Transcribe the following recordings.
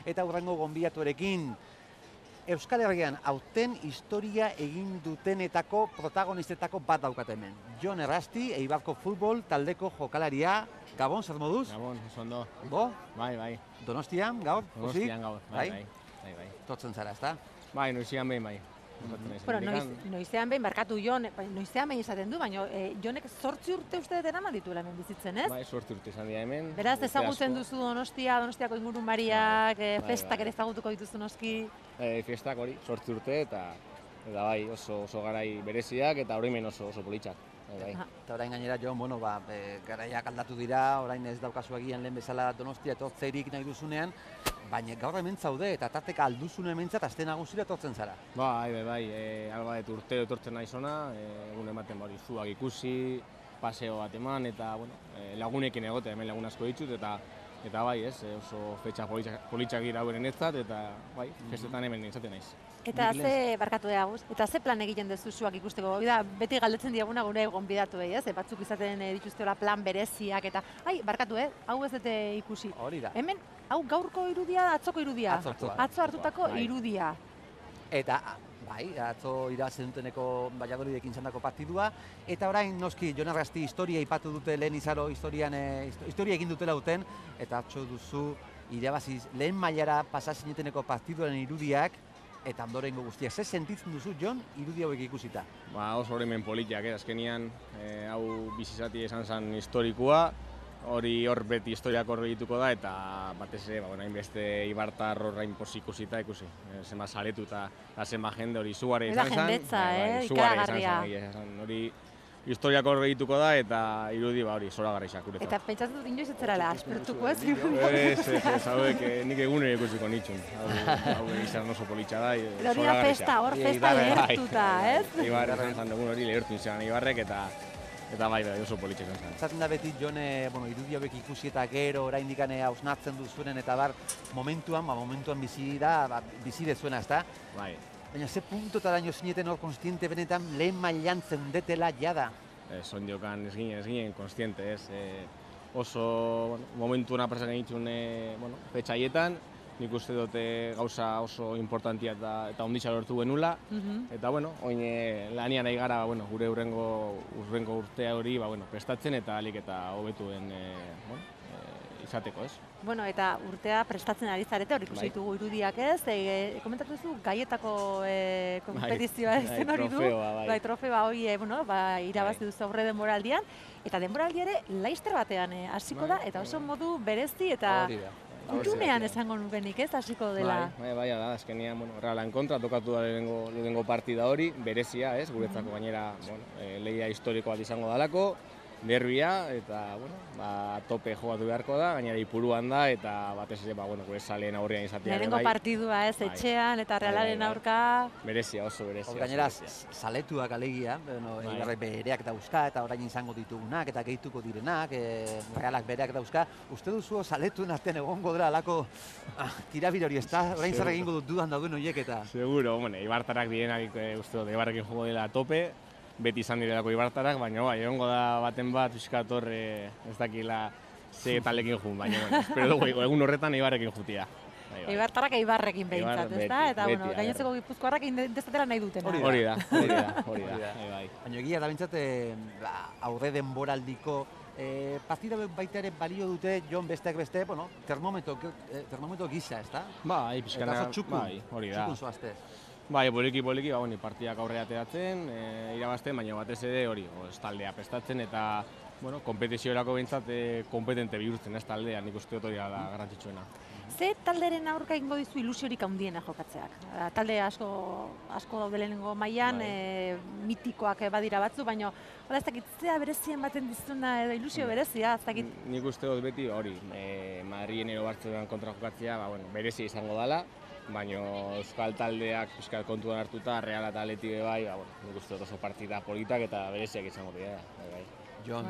eta hurrengo gonbidatuarekin. Euskal Herrian hauten historia egin dutenetako protagonistetako bat daukat hemen. Jon Errasti, Eibarko futbol taldeko jokalaria. Gabon, zer moduz? Gabon, oso ondo. Bo? Bai. Donostian, gaur? Donostian gaur, bai. Totzen zara, ezta? Bai, noizean behin, bai. Bueno, noizean behin, barkatu Jon, noizean behin izaten du, baina Jonek 8 urte uste dut eraman dituela hemen bizitzen, ez? Bai, 8 urte izan dira hemen. Beraz, ezagutzen duzu Donostiako ingurumariak, festak ere ezagutuko dituzu noski. Festak hori, 8 urte eta bai, oso garai bereziak eta orain oso politxak. Eta orain gainera, Jon, garaiak aldatu dira, orain ez daukazu egian lehen bezala Donostia etortzerik nahi duzunean, baina gaur hemen zaude eta tarteka alduzune hementzat aste nagusira etortzen zara. Bai, albaet urtero etortzen nahi zona, egun ematen bari zuak ikusi, paseo bat eman eta lagunekin egote, hemen lagun asko ditut eta bai, oso fetxa politxak gira hauen enetzat eta bai, festetan hemen izaten naiz. Eta ze plan egiten duzu zuak ikusteko? Beti galdetzen diaguna gure gonbidatuei, ez? Batzuk izaten dituztela plan bereziak eta barkatu, hau ez dute ikusi. Hori da. Hemen, hau gaurko irudia, atzoko irudia. Atzo hartutako irudia. Eta, bai, atzo irabazi duteneko Valladolidekin izandako partidua, eta orain noski Jon Errasti historia ipatu dute lehen izaro historia egin dutela duten, eta atzo duzu irabazi lehen mailara pasa zineteneko partiduaren irudiak, eta ondorengo guztiak. Ze sentitzen duzu, Jon, irudi hauek ikusita? Oso horremen politiak, azkenian, hau bizizati esan zen historikoa, hor beti historiak horre dituko da, eta batez ere, hainbeste ibartar horrein pozik ikusita ikusi. Zema saretu eta zema jende hori zuare izan zen. Jendetza, ikaragarria. Hori historiak horre dituko da, eta irudi hori zoragarri xakuretzat. Eta pentsatzen dut inoiz etzerala aspertuko ez? Ez, hauek nik egunero ikusiko nitxun. Hau izan oso politxa da, hori da festa, hor festa lehertuta, ez? Ibarra izan zen egun hori lehertu izan Ibarrek, eta bai, oso politxe izan zen. Zaten da beti, Jon, irudi hauek ikusi eta gero, oraindik hausnartzen duzuenen eta momentuan bizi dezuena, ezta? Bai. Baina ze puntotaraino zineten hor konstiente benetan lehen mailan zeundetela jada? Sondiokan ez ginen konstiente, ez. Oso momentu hona presak egin petxaietan, nik uste dute gauza oso importantia eta onditza lortu genula. Eta, oin lanian nahi gara gure urrengo urtea hori prestatzen eta alik eta hobetuen izateko, ez? Bueno, eta urtea prestatzen ari zarete, hor ikusi ditugu irudiak, ez? Komentatu duzu gaietako kompetizioa ez hori du. Bai, trofeoa hori, irabazi duzu aurre denboraldian. Eta denboraldi ere, laister batean hasiko da, eta oso modu berezi eta kutunean esango nukenik, ez? Hasiko dela. Bai, da, azkenean, Realan kontra tokatu da lehenengo partida hori, berezia, ez? Guretzako gainera, lehia historiko bat izango dalako. Derbia, eta, tope jogatu beharko da, gainera ipuruan da, eta batez ere, gure saleen aurrean izatea. Lehenengo partidua, ez, etxean, eta Realaren aurka. Berezia, oso berezia. Gainera, saletuak alegia, Eibarrek bereak dauzka, eta orain izango ditugunak, eta gehituko direnak, Realak bereak dauzka. Uste duzu saletuen artean egongo dela alako tirabir hori, ez da? Orain zer egingo dut dudan dauden horiek eta... Seguro, Eibartarrak direnak, uste dut, Eibarrekin jogo dela tope, beti izan direlako ibartarak, baina egongo da baten bat pixkat hor ez dakila ze talekin jun, baina espero dugu egun horretan Eibarrekin jutia. Eibartarrak Eibarrekin behintzat, ez da? Eta gainontzeko gipuzkoarrak indezatela nahi duten. Hori da. Baina egia da bintzat aurre denboraldiko partida baita ere balio dute, Jon, besteak beste, termometro gisa, ez da? Bai, pixkana, hori da. Txukun zoazte. Bai, poliki, partidak aurrera ateratzen, irabazten, baina batez ere hori, taldea prestatzen eta, kompetiziorako behintzat kompetente bihurtzen ez taldea, nik uste dut hori da garrantzitsuena. Ze talderen aurka egingo dizu ilusiorik handiena jokatzeak? Talde asko daude lehenengo mailan, mitikoak badira batzu, baina ez dakit zea berezien baten dizuna edo ilusio berezia, ez dakit? Nik uste dut beti hori, Madrien ero Bartzelonan kontra jokatzea, berezia izango dela, baina euskal taldeak pixkat kontuan hartuta, Real eta Atleti bai, nik uste dut oso partida politak eta bereziak izango dira. Jon,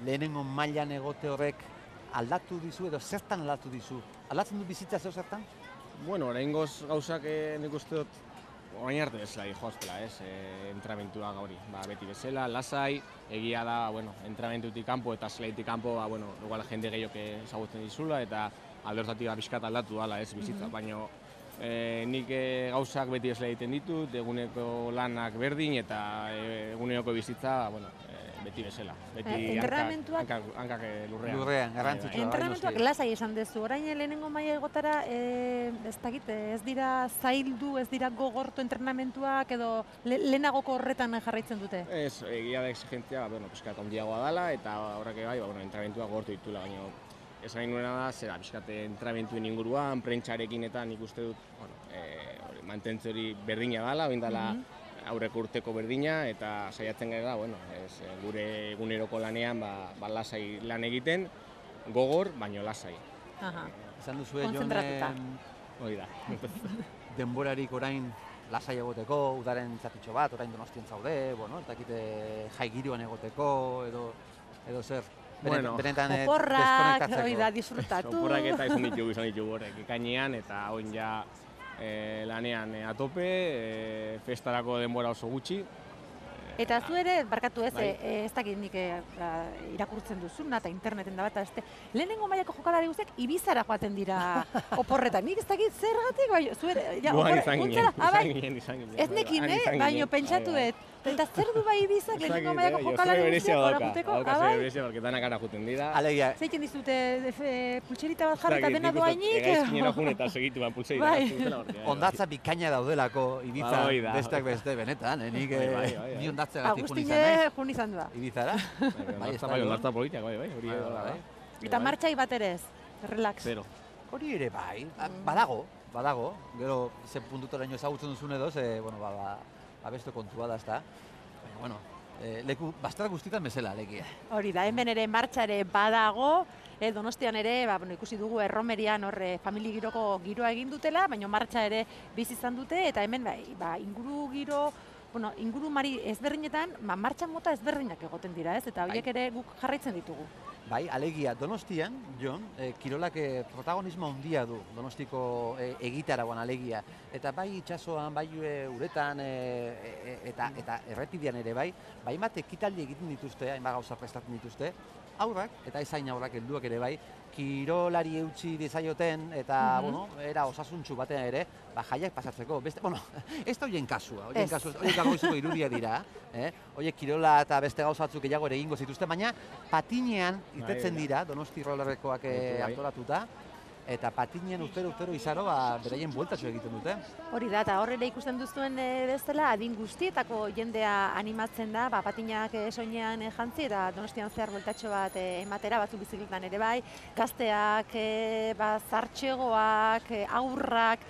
lehenengo mailan egote horrek aldatu dizu edo zertan aldatu dizu? Aldatzen du bizitza zertan? Oraingoz gauzak nik uste dut orain arte bezala joaztela, entramentua gauri. Beti bezala, lasai, egia da, entramentutik kanpo eta zelaitik kanpo, igual jende gehiok ezagutzen dizula eta alde hortatik pixkat aldatu dala, ez, bizitza, baina nik gauzak beti esle egiten ditut, eguneko lanak berdin eta eguneko bizitza, bueno, beti bezala. Beti hankak lurrean. Lurrean, garrantzitsua. Entrenamentuak lasai esan dezu, orain lehenengo maila egotara, ez dakit, ez dira zaildu, ez dira gogortu entrenamentuak edo lehenagoko horretan jarraitzen dute? Ez, egia da exigentzia, bueno, pixkat handiagoa dela eta horrek bai, entrenamentuak gogortu ditula, baina esan nahi nuena da, zera, pixkat entrenamentuen inguruan, prentxarekin eta nik uste dut, mantentze hori berdina dela, oin dela aurreko urteko berdina, eta saiatzen gara, gure eguneroko lanean lasai lan egiten, gogor, baino lasai. Esan duzue, konzentratuta. Hori da. Denborarik orain lasai egoteko, udaren zatitxo bat, orain Donostian zaude, ez dakite jai giroan egoteko, edo zer. Benetan oporrak, hori da, disfrutatu. Oporrak eta izan ditugu horrek, ekainean, eta oin ja lanean atope, festarako denbora oso gutxi. Eta zu ere, barkatu ez, ez dakit nik irakurtzen duzuna eta interneten da bat, lehenengo mailako jokalari guztiak Ibizara joaten dira oporretan. Nik ez dakit zergatik, bai, zu ere, izan ginen. Ez nekin, baina pentsatu dut. Eta zer du bai Ibizak lehenengo mailako jokalari guztiak horakuteko? Hauka berezia, porque danak ara juten dira. Zeiken dizute pultserita bat jarri eta dena doainik? Egaizkinera jun eta segitu ban pultserita. Ondatza bikaina daudelako Ibiza besteak beste, benetan, nik ni ondatzegatik jun izan naiz. Agustin jun izan da. Ibizara? Ondatza politiak, bai. Eta martxai bat ere ez, relax. Zero. Hori ere bai, badago, gero zen puntutaraino ezagutzen duzun edo, beste kontua da, ezta. Baina, leku bastar guztietan bezala, lekia. Hori da, hemen ere martxa ere badago, Donostian ere, ikusi dugu Erromerian famili giroko giroa egin dutela, baina martxa ere bizi izan dute, eta hemen inguru mari ezberdinetan, martxa mota ezberdinak egoten dira, ez? Eta horiek ere guk jarraitzen ditugu. Bai, alegia, Donostian, Jon, kirolak protagonismo handia du, Donostiko egitaragoan alegia. Eta bai itsasoan, bai uretan, eta errepidean ere bai, bat ekitaldi egiten dituzte, hainbat gauza prestatzen dituzte, aurrak, eta ezain aurrak helduak ere bai, kirolari eutxi dizaioten, eta, era osasuntsu batean ere, jaiak pasatzeko. Ez da horien kasua, horiek gagoizeko irudia dira, horiek kirola eta beste gauza batzuk gehiago ere egingo zituzte, baina patinean irtetzen dira, Donosti rollerrekoak antolatuta, eta patinean urtero izaro beraien bueltatxo egiten dute. Hori da, eta horrela ikusten duzuen bezala, adin guztietako jendea animatzen da, patinak soinean jantzi, eta Donostian zehar bueltatxo bat ematera, batzuk bizikletan ere bai, gazteak, zartxegoak, aurrak,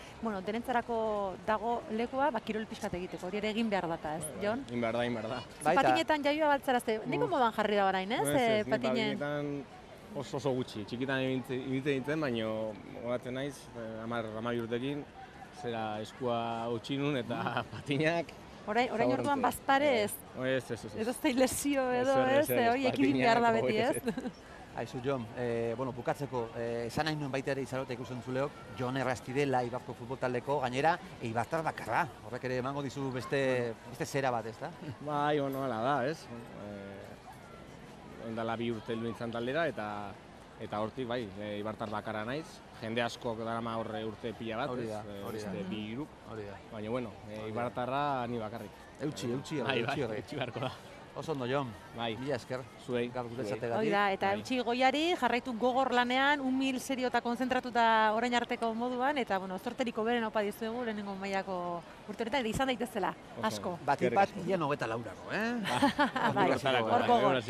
denentzarako dago lekua, kirol pixkat egiteko, hori ere egin behar data, ez, Jon? Egin behar da. Patinetan jaioa baltzarazte, niko modan jarri da orain, ez? Patinetan oso gutxi, txikitan ibiltzen dintzen, baina horatzen naiz, 10 urtekin, zera eskua utxinun eta patinak. Orain orduan bazparez? Ez. Edo zei lesio edo ez, hori ekibin behar da beti ez? Aizu, Jon, bukatzeko, esan nahi nuen baita ere izarota ikusten zuleok, Jon Errastidela, Eibarko futbol taldeko, gainera, Eibartar bakarra. Horrek ere emango dizu beste zera bat, ez da? Bai, hala da, ez? Ondala 2 urte heldu nintzen taldera, eta hortik, bai, Eibartar bakarra naiz. Jende askok darama horre urte pila bat, beste 2 grup. Baina, bueno, Eibartarra ni bakarrik. Eutxi beharko da. Oso ondo, Jon. Mila esker. Zuei. Hori da, eta eutxi goiari jarraitu gogor lanean, umil, serio eta konzentratuta orain arteko moduan, eta, zorteriko beren opa dizuegu lehenengo mailako urteretan, eta izan daitezela, asko. Bat, ia 94, Bai, hor gogor.